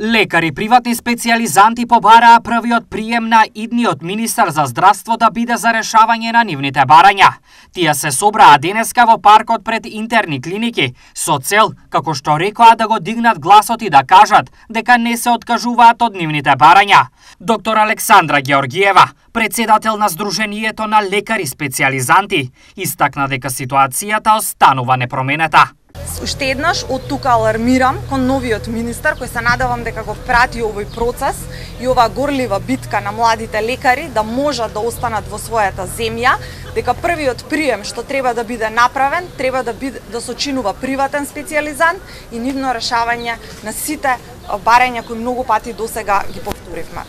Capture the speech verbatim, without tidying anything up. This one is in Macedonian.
Лекари приватни специјализанти побараа првиот прием на идниот министар за здравство да биде за решавање на нивните барања. Тие се собраа денеска во паркот пред интерни клиники со цел, како што рекоа, да го дигнат гласот и да кажат дека не се откажуваат од нивните барања. Доктор Александра Георгиева, председател на Сдруженијето на лекари специјализанти, истакна дека ситуацијата останува непроменета. Уште еднаш од тука алармирам кон новиот министар, кој се надевам дека го прати овој процес и оваа горлива битка на младите лекари да можат да останат во својата земја, дека првиот прием што треба да биде направен, треба да биде да сочинува приватен специјализант и нивно решавање на сите барања кои многу пати досега ги повторивме.